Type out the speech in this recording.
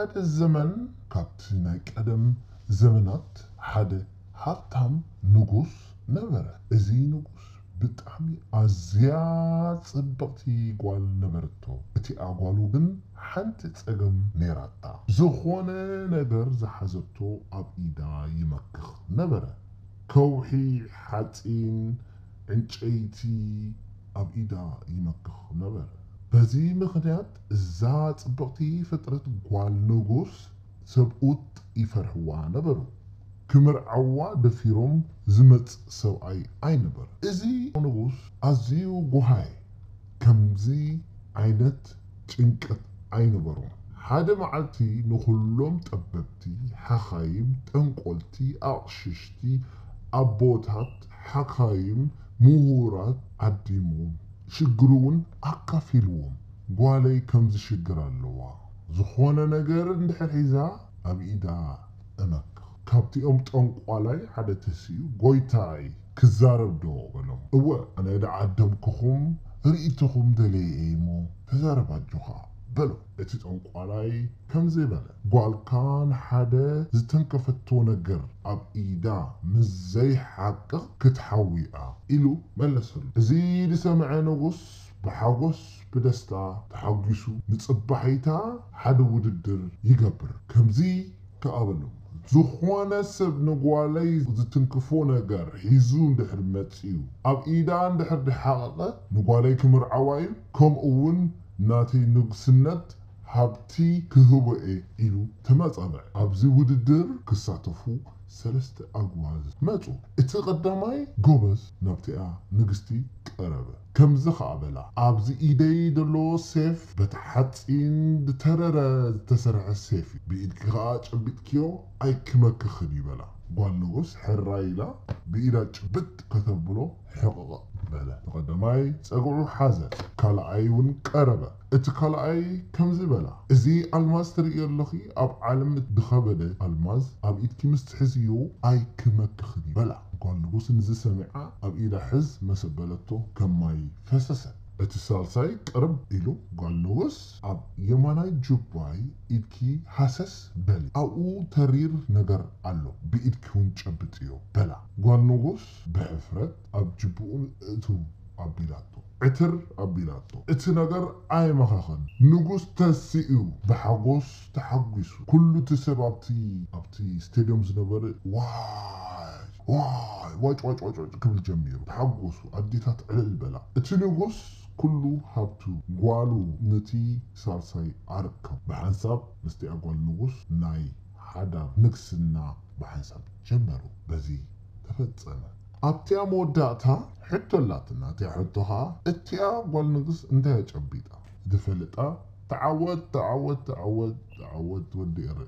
ሓደ ዘመን ካብቲ ናይ ቀደም ዘመናት ሓደ ሃብታም ንጉስ ነበረ። እዚ ንጉስ ብጣዕሚ ኣዝያ ጽብቕቲ ጓል ነበረቶ። እቲኣ ጓሉ ግን ሓንቲ ጸገም ነይራታ። ዝኾነ ነገር ዝሓዘቶ ኣብ ኢዳ ይመክኽ ነበረ። ከውሒ፣ ሓጺን፣ ዕንጨይቲ ኣብ ኢዳ ይመክኽ ነበረ። በዚ ምኽንያት እዛ ጽብቕቲ ፍጥረት ጓል ንጉስ ሰብኡት ይፈርሕዋ ነበሩ። ክምርዓዋ ደፊሮም ዝመጽእ ሰብኣይ ኣይነበረ። እዚ ንጉስ ኣዝዩ ጎሃየ። ከምዚ ዓይነት ጭንቀት ኣይነበሮን። ሓደ መዓልቲ ንኹሎም ጠበብቲ፣ ሓኻይም፣ ጠንቆልቲ፣ ኣቕሽሽቲ፣ ኣቦታት፣ ሓኻይም፣ ምሁራት ዓዲሞም ሽግሩ እውን ኣካፊልዎም። ጓለይ ከምዚ ሽግር ኣለዋ፣ ዝኾነ ነገር እንድሕር ሒዛ ኣብ ኢዳ እመክኽ። ካብቲኦም ጠንቋላይ ሓደ ተሲኡ፣ ጎይታይ ክዛረብ ዶ በሎም። እወ ኣነ ደዓደምክኹም ርእይቶኹም ደለየ እየ እሞ ተዛረብ ኣጆኻ በሎ። እቲ ጠንቋላይ ከምዚ በለ፣ ጓልካ ንሓደ ዝተንከፈቶ ነገር ኣብ ኢዳ ምስ ዘይሓቅቕ ክትሓዊ እያ ኢሉ መለሰሉ። እዚ ዝሰምዐ ንጉስ ብሓጎስ ብደስታ ተሓጒሱ ንጽባሒታ ሓደ ውድድር ይገብር። ከምዚ ከኣ በሎም፣ ዝኾነ ሰብ ንጓለይ ዝትንክፎ ነገር ሒዙ እንድሕር መጺኡ ኣብ ኢዳ እንድሕር ደሓቐቐ ንጓለይ ክምርዓዋ እዩ፣ ከምኡ እውን ናተይ ንጉስነት ሃብቲ ክህቦ እየ ኢሉ ተመጻበዐ። ኣብዚ ውድድር ክሳተፉ ሰለስተ ኣጓዝ መጹ። እቲ ቀዳማይ ጎበዝ ናብቲኣ ንግስቲ ቀረበ። ከምዚ ኸኣ በላ፣ ኣብዚ ኢደይ ዘሎ ሴፍ በቲ ሓጺን ዝተረረ ዝተሰርሐ ሴፍ እዩ። ብኢድኪ ኸኣ ጨቢጥክዮ ኣይክመክኽን እዩ በላ። ጓል ንጉስ ሕራይ ኢላ ብኢዳ ጭብጥ ከተብሎ ሕቕቕ በለ። እቲ ቀዳማይ ጸግዑ ሓዘ። ካልኣይ እውን ቀረበ። እቲ ካልኣይ ከምዚ በላ፣ እዚ ኣልማዝ ትርእዮ ኣለኺ፣ ኣብ ዓለም ዝኸበደ ኣልማዝ ኣብ ኢድኪ ምስ ትሕዝዮ ኣይክመክኽን እዩ በላ። ጓል ንጉስ ንዚ ሰሚዓ ኣብ ኢዳ ሕዝ መሰበለቶ ከም ማይ ፈሰሰ። እቲ ሳልሳይ ቅርብ ኢሉ፣ ጓል ንጉስ ኣብ የማናይ ጁባይ ኢድኪ ሃሰስ በሊ፣ ኣብኡ ተሪር ነገር ኣሎ፣ ብኢድኪ እውን ጨብጥዮ በላ። ጓል ንጉስ ብሕፍረት ኣብ ጅብኡ እትው ኣቢላቶ፣ ዕትር ኣቢላቶ። እቲ ነገር ኣይመኸኸን። ንጉስ ተሲኡ ብሓጎስ ተሓጒሱ። ኩሉ እቲ ሰብ ኣብቲ ኣብቲ ስቴድዮም ዝነበረ ዋይ ዋይ ዋጭ ዋጭ ዋጭ ዋጭ ክብል ጀሚሩ። ተሓጎሱ። ኣዴታት ዕልል በላ። እቲ ንጉስ ኩሉ ሃብቱ ጓሉ ነቲ ሳልሳይ ኣረከቡ። ብሓንሳብ ምስቲኣ ጓል ንጉስ ናይ ሓዳር ንግስና ብሓንሳብ ጀመሩ። በዚ ተፈጸመ። ኣብቲኣ መወዳእታ ሕቶ ኣላትና። እቲኣ ሕቶ ኸኣ እቲኣ ጓል ንጉስ እንታይ ኣጨቢጣ? ዝፈልጣ ተዓወት ተዓወት ተዓወት ተዓወት ወዲ ኤረ።